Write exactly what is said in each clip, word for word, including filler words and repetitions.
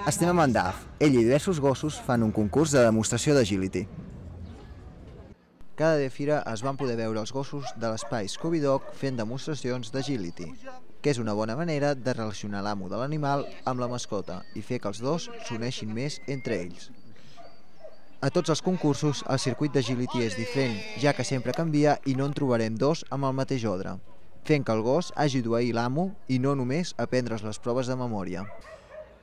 Estem amb en Daf. Ell i diversos gossos fan un concurs de demostració d'agility. Cada dia fira es van poder veure els gossos de l'espai Scooby Dog fent demostracions d'agility, que és una bona manera de relacionar l'amo de l'animal amb la mascota i fer que els dos s'uneixin més entre ells. A tots els concursos, el circuit d'agility és diferent, ja que sempre canvia i no en trobarem dos amb el mateix ordre, fent que el gos hagi d'obeir l'amo i no només aprendre's les proves de memòria.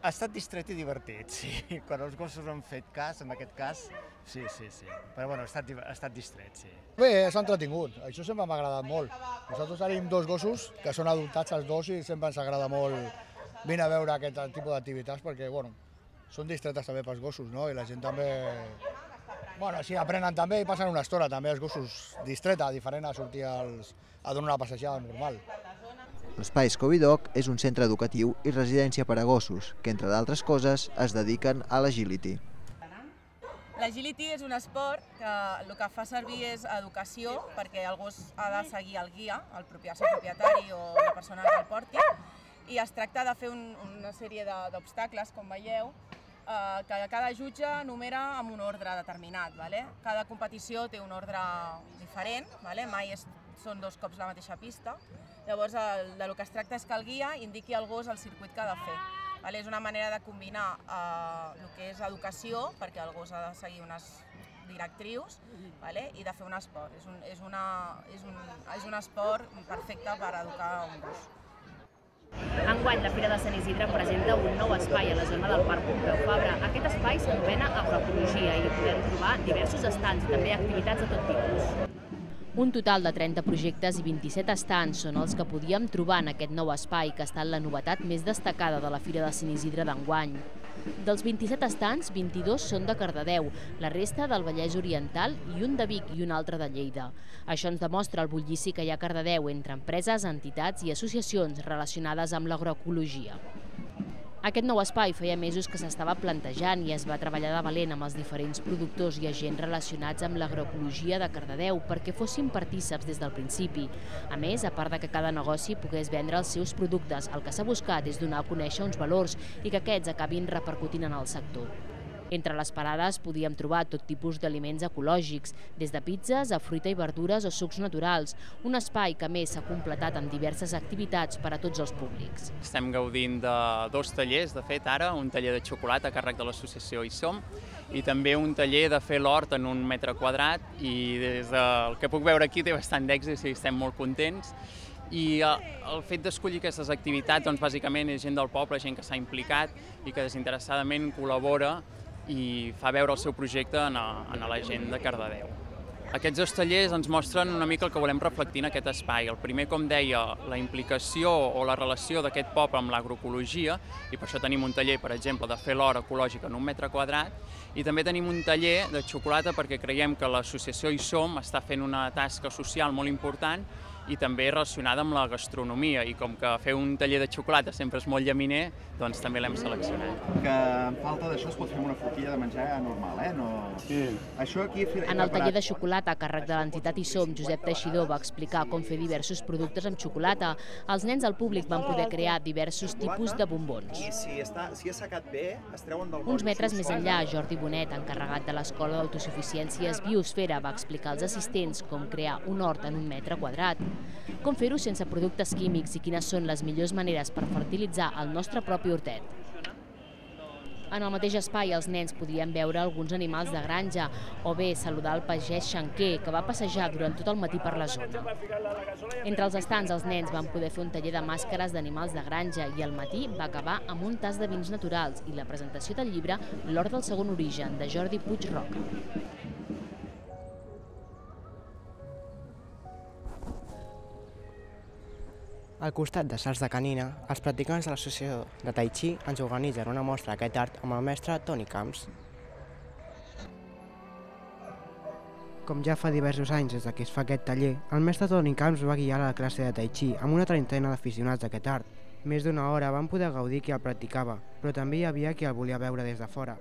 Ha estat distret i divertit, sí. Quan els gossos han fet cas, en aquest cas, sí, sí, sí. Però bueno, ha estat, ha estat distret, sí. Bé, s'ha entretingut. Això sempre m'ha agradat molt. Nosaltres tenim dos gossos que són adoptats els dos i sempre ens agrada molt venir a veure aquest tipus d'activitats perquè, bueno, són distretes també pels gossos, no? I la gent també... Bueno, així aprenen també i passen una estona també els gossos distreta, diferent a sortir als... a donar una passejada normal. L'espai Scooby Dog és un centre educatiu i residència per a gossos, que entre d'altres coses es dediquen a l'agility. L'agility és un esport que el que fa servir és educació, perquè el gos ha de seguir el guia, el propietari o la persona que el porti, i es tracta de fer un, una sèrie d'obstacles, com veieu, eh, que cada jutge numera amb un ordre determinat. Vale? Cada competició té un ordre diferent, vale? Mai és, són dos cops la mateixa pista. Llavors, el, de lo que es tracta és que el guia indiqui al gos el circuit que ha de fer. Vale? És una manera de combinar eh, el que és educació, perquè el gos ha de seguir unes directrius, vale? I de fer un esport. És un, és, una, és, un, és un esport perfecte per educar un gos. Enguany, la Fira de Sant Isidre presenta un nou espai a la zona del Parc Pompeu Fabra. Aquest espai s'anomena agroecologia i podem trobar diversos estands i també activitats de tot tipus. Un total de trenta projectes i vint-i-set estands són els que podíem trobar en aquest nou espai, que ha estat la novetat més destacada de la Fira de Sant Isidre d'enguany. Dels vint-i-set estands, vint-i-dos són de Cardedeu, la resta del Vallès Oriental i un de Vic i un altre de Lleida. Això ens demostra el bullici que hi ha a Cardedeu entre empreses, entitats i associacions relacionades amb l'agroecologia. Aquest nou espai feia mesos que s'estava plantejant i es va treballar de valent amb els diferents productors i agents relacionats amb l'agroecologia de Cardedeu perquè fossin partíceps des del principi. A més, a part de que cada negoci pogués vendre els seus productes, el que s'ha buscat és donar a conèixer uns valors i que aquests acabin repercutint en el sector. Entre les parades podíem trobar tot tipus d'aliments ecològics, des de pizzas a fruita i verdures o sucs naturals, un espai que a més s'ha completat amb diverses activitats per a tots els públics. Estem gaudint de dos tallers, de fet ara, un taller de xocolata a càrrec de l'associació Hi Som i també un taller de fer l'hort en un metre quadrat i des del que puc veure aquí té bastant d'èxit i estem molt contents. I el fet d'escollir aquestes activitats, doncs, bàsicament és gent del poble, gent que s'ha implicat i que desinteressadament col·labora i fa veure el seu projecte a la gent de Cardedeu. Aquests dos tallers ens mostren una mica el que volem reflectir en aquest espai. El primer, com deia, la implicació o la relació d'aquest poble amb l'agroecologia, i per això tenim un taller, per exemple, de fer l'hort ecològic en un metre quadrat, i també tenim un taller de xocolata perquè creiem que l'associació Hi Som està fent una tasca social molt important i també relacionada amb la gastronomia, i com que fer un taller de xocolata sempre és molt llaminer, doncs també l'hem seleccionat. Que en falta d'això es pot fer una forquilla de menjar normal, eh? No... Sí. Això aquí... En el taller de xocolata a càrrec de l'entitat Hi Som, Josep Teixidor va explicar com fer diversos productes amb xocolata. Els nens del públic van poder crear diversos tipus de bombons. I si està, si és secat bé, es treuen del Uns metres més enllà, Jordi Bonet, encarregat de l'Escola d'Autosuficiències Biosfera, va explicar als assistents com crear un hort en un metre quadrat, com fer-ho sense productes químics i quines són les millors maneres per fertilitzar el nostre propi hortet. En el mateix espai els nens podien veure alguns animals de granja o bé saludar el pagès Xanquer, que va passejar durant tot el matí per la zona. Entre els estands els nens van poder fer un taller de màscares d'animals de granja i al matí va acabar amb un tas de vins naturals i la presentació del llibre L'hort del segon origen, de Jordi Puig Roca. Al costat de salts de canina, els practicants de l'associació de Tai Chi ens organitzen una mostra d'aquest art amb el mestre Toni Camps. Com ja fa diversos anys des que es fa aquest taller, el mestre Toni Camps va guiar la classe de Tai Chi amb una trentena d'aficionats d'aquest art. Més d'una hora van poder gaudir qui el practicava, però també hi havia qui el volia veure des de fora.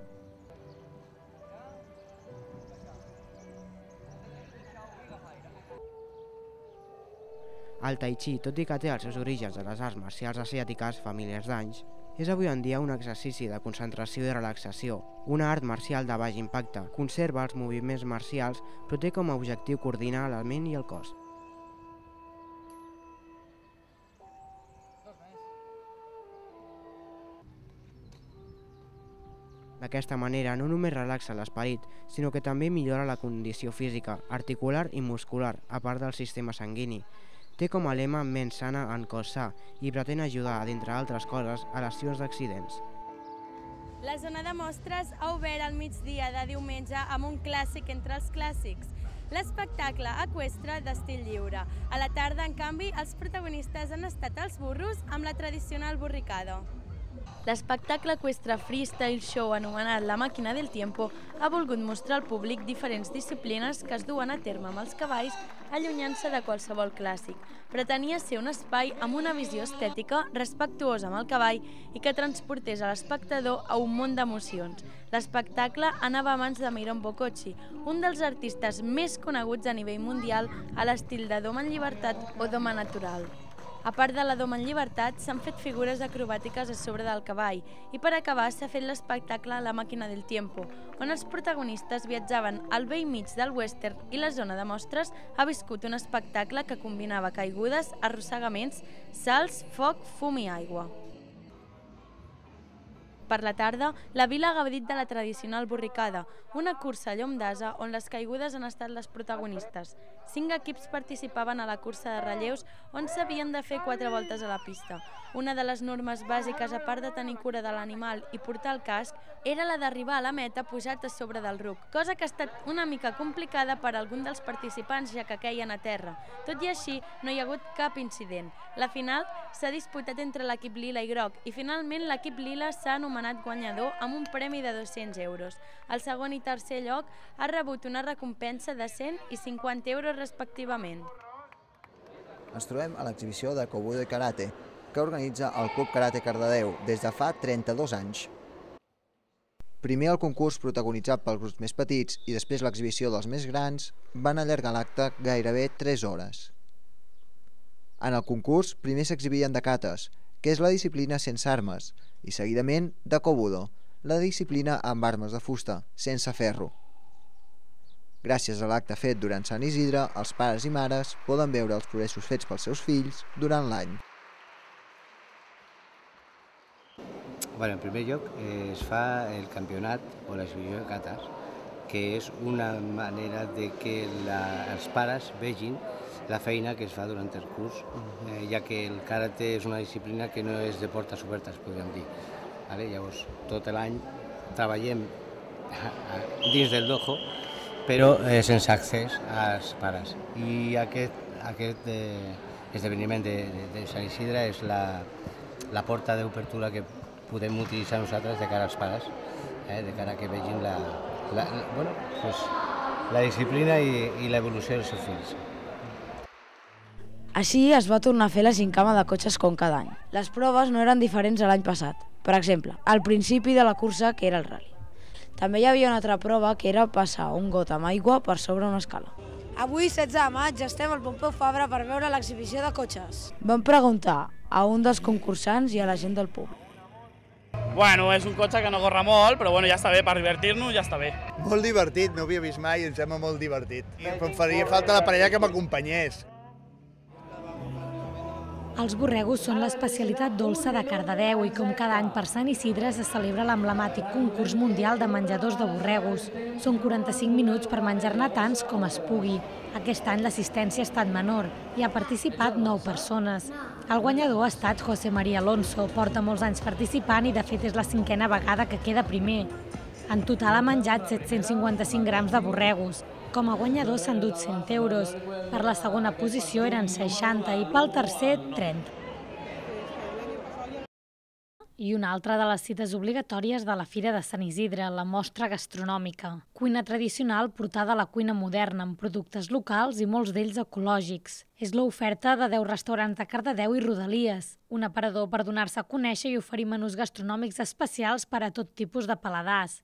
El Tai Chi, tot i que té els seus orígens de les arts marcials asiàtiques fa milers d'anys, És avui en dia un exercici de concentració i relaxació, una art marcial de baix impacte. Conserva els moviments marcials, però té com a objectiu coordinar la ment i el cos. D'aquesta manera no només relaxa l'esperit, sinó que també millora la condició física, articular i muscular, a part del sistema sanguini. Té com a lema ment sana en cos sa i pretén ajudar, d'entre altres coses, a lesions d'accidents. La zona de mostres ha obert al migdia de diumenge amb un clàssic entre els clàssics, l'espectacle eqüestre d'estil lliure. A la tarda, en canvi, els protagonistes han estat els burros amb la tradicional borricada. L'espectacle eqüestre Freestyle Show, anomenat La Màquina del Tiempo, ha volgut mostrar al públic diferents disciplines que es duen a terme amb els cavalls, allunyant-se de qualsevol clàssic. Pretenia ser un espai amb una visió estètica respectuosa amb el cavall i que transportés a l'espectador a un món d'emocions. L'espectacle anava a mans de Myron Bococci, un dels artistes més coneguts a nivell mundial a l'estil de doma en llibertat o doma natural. A part de la doma en llibertat, s'han fet figures acrobàtiques a sobre del cavall i per acabar s'ha fet l'espectacle La Màquina del Tiempo, on els protagonistes viatjaven al bell mig del western i la zona de mostres ha viscut un espectacle que combinava caigudes, arrossegaments, salts, foc, fum i aigua. Per la tarda, la vila ha gaudit de la tradicional borricada, una cursa a llom d'ase on les caigudes han estat les protagonistes. Cinc equips participaven a la cursa de relleus on s'havien de fer quatre voltes a la pista. Una de les normes bàsiques, a part de tenir cura de l'animal i portar el casc, era la d'arribar a la meta pujat a sobre del ruc, cosa que ha estat una mica complicada per a algun dels participants ja que queien a terra. Tot i així, no hi ha hagut cap incident. La final s'ha disputat entre l'equip lila i groc i finalment l'equip lila s'ha anomenat guanyador amb un premi de dos-cents euros. El segon i tercer lloc ha rebut una recompensa de cent i cinquanta euros respectivament. Ens trobem a l'exhibició de Kobudo i Karate, que organitza el Club Karate Cardedeu des de fa trenta-dos anys. Primer el concurs protagonitzat pels grups més petits i després l'exhibició dels més grans van allargar l'acte gairebé tres hores. En el concurs primer s'exhibien de katas, que és la disciplina sense armes, i seguidament de Kobudo, la disciplina amb armes de fusta, sense ferro. Gràcies a l'acte fet durant Sant Isidre, els pares i mares poden veure els progressos fets pels seus fills durant l'any. Bueno, en primer lloc, eh, es fa el campionat o l'exhibició de katas, que és una manera de que la, els pares vegin la feina que es fa durant el curs, eh, ja que el karate és una disciplina que no és de portes obertes, podríem dir. Vale? Llavors, tot l'any treballem dins del dojo, però eh, sense accés als pares. I aquest, aquest eh, esdeveniment de, de, de Sant Isidre és la, la porta d'obertura que podem utilitzar nosaltres de cara als pares, eh, de cara que vegin la, la, la, bueno, pues, la disciplina i, i l'evolució dels seus fills. Així es va tornar a fer la gincama de cotxes com cada any. Les proves no eren diferents a l'any passat. Per exemple, al principi de la cursa, que era el rally. També hi havia una altra prova que era passar un got amb aigua per sobre una escala. Avui, setze de maig, estem al Pompeu Fabra per veure l'exhibició de cotxes. Vam preguntar a un dels concursants i a la gent del públic. Bueno, és un cotxe que no corre molt, però bueno, ja està bé, per divertir-nos ja està bé. Molt divertit, no ho havia vist mai i em sembla molt divertit. Però em faria falta la parella que m'acompanyés. Els borregos són l'especialitat dolça de Cardedeu i com cada any per Sant Isidre se celebra l'emblemàtic concurs mundial de menjadors de borregos. Són quaranta-cinc minuts per menjar-ne tants com es pugui. Aquest any l'assistència ha estat menor i ha participat nou persones. El guanyador ha estat José María Alonso, porta molts anys participant i de fet és la cinquena vegada que queda primer. En total ha menjat set-cents cinquanta-cinc grams de borregos. Com a guanyador s'han dut cent euros, per la segona posició eren seixanta i pel tercer trenta. I una altra de les cites obligatòries de la Fira de Sant Isidre, la mostra gastronòmica. Cuina tradicional portada a la cuina moderna, amb productes locals i molts d'ells ecològics. És l'oferta de deu restaurants de Cardedeu i Rodalies, un aparador per donar-se a conèixer i oferir menús gastronòmics especials per a tot tipus de paladars.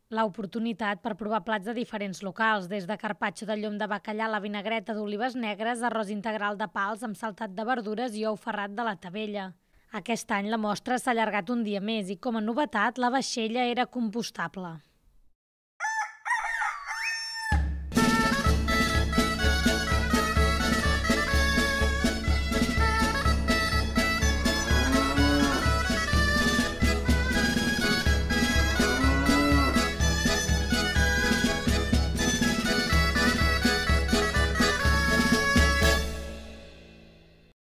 L'oportunitat per provar plats de diferents locals, des de carpaccio de llom de bacallà a la vinagreta d'olives negres, arròs integral de pals amb saltat de verdures i ou ferrat de la Tavella. Aquest any la mostra s'ha allargat un dia més i, com a novetat, la vaixella era compostable.